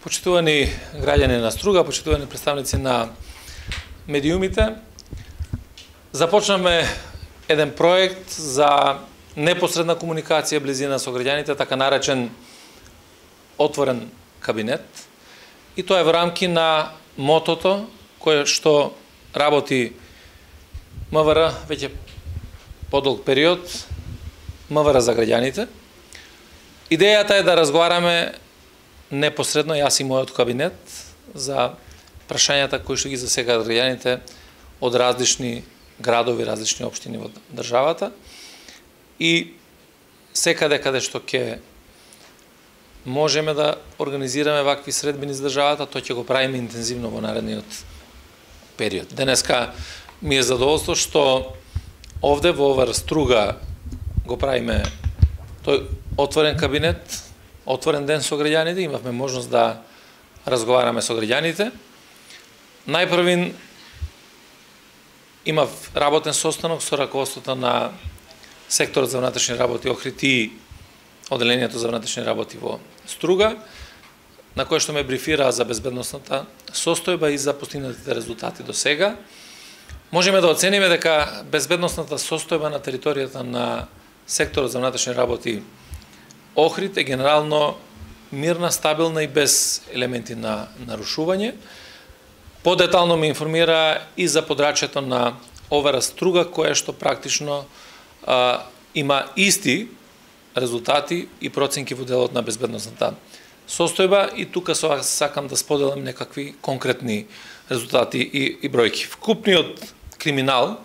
Почитувани граѓани на Струга, почитувани представници на медиумите, започнаме еден проект за непосредна комуникација близина со граѓаните, така наречен отворен кабинет. И тоа е во рамки на мотото кое што работи МВР веќе подолг период, МВР за граѓаните. Идејата е да разговараме непосредно јас и мојот кабинет за прашањата кои што ги засегаат граѓаните од различни градови, различни општини во државата и секаде каде што ќе можеме да организираме вакви средбини за државата, тоа ќе го правиме интензивно во наредниот период. Денеска ми е задоволство што овде во Струга го правиме тој отворен кабинет, отворен ден со граѓаните, имавме можност да разговараме со граѓаните. Најпрвин имав работен состанок со раководството на секторот за внатрешни работи Охрид и одделението за внатрешни работи во Струга, на кој што ме брифира за безбедносната состојба и за постигнатите резултати до сега. Можеме да оцениме дека безбедносната состојба на територијата на секторот за внатрешни работи Охрид е генерално мирна, стабилна и без елементи на нарушување. Подетално ме информира и за подрачјето на ОВР Струга, кое што практично има исти резултати и проценки во делот на безбедносната состојба и тука сакам да споделам некакви конкретни резултати и бројки. Вкупниот криминал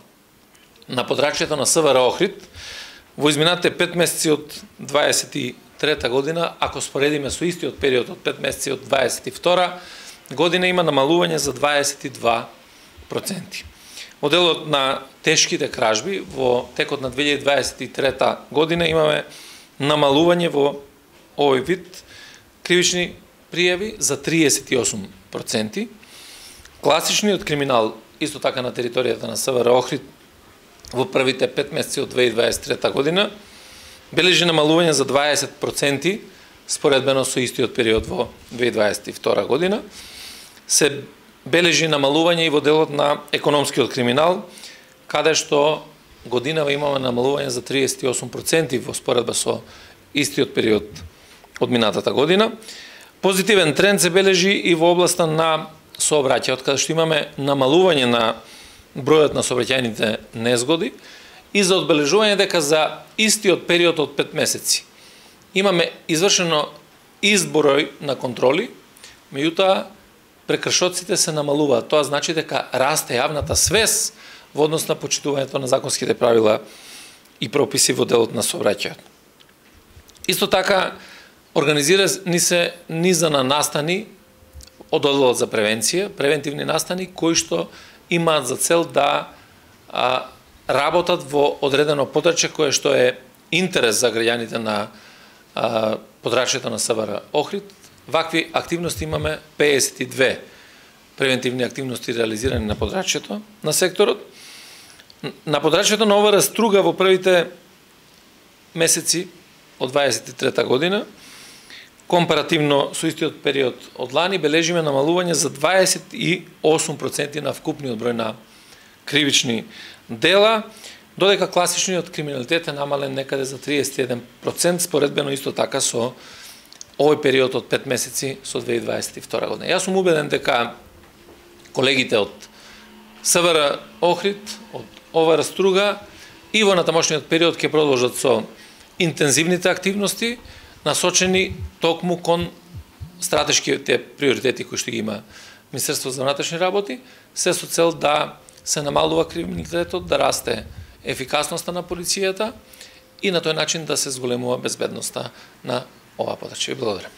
на подрачјето на СВР Охрид во изминатите 5 месеци од 23 година, ако споредиме со истиот период од 5 месеци од 22 година, има намалување за 22%. Во делот на тешките кражби, во текот на 2023 година имаме намалување во овој вид кривични пријави за 38%. Класичниот криминал, исто така на територијата на СВР Охрид, во првите 5 месеци од 2023 година, бележи намалување за 20% споредбено со истиот период во 2022 година. Се бележи намалување и во делот на економскиот криминал, каде што годинава имаме намалување за 38% во споредба со истиот период од минатата година. Позитивен тренд се бележи и во областа на сообраќајот, каде што имаме намалување на бројот на сообраќајните незгоди и за одбележување дека за истиот период од 5 месеци имаме извршено изброј на контроли, меѓутоа прекршоците се намалуваат. Тоа значи дека расте јавната свест во однос на почитувањето на законските правила и прописи во делот на сообраќајот. Исто така организирани се низа на настани од одделот за превенција, превентивни настани кои што имаат за цел да работат во одредено подрачје кое што е интерес за граѓаните на подрачјето на СВР Охрид. Вакви активности имаме 52 превентивни активности реализирани на подрачјето на секторот. На подрачјето на ОВР Струга во првите месеци од 23 година, компаративно со истиот период од лани, бележиме намалување за 28% на вкупниот број на кривични дела, додека класичниот криминалитет е намален некаде за 31%, споредбено исто така со овој период од 5 месеци со 2022 година. Јас сум убеден дека колегите од СВР Охрид, од ОВР Струга и во натамошниот период ќе продолжат со интензивните активности, насочени токму кон стратешките приоритети кои што ги има Министерството за внатрешни работи, се со цел да се намалува криминалитетот, да расте ефикасноста на полицијата и на тој начин да се зголемува безбедноста на ова подрачје. Благодарам.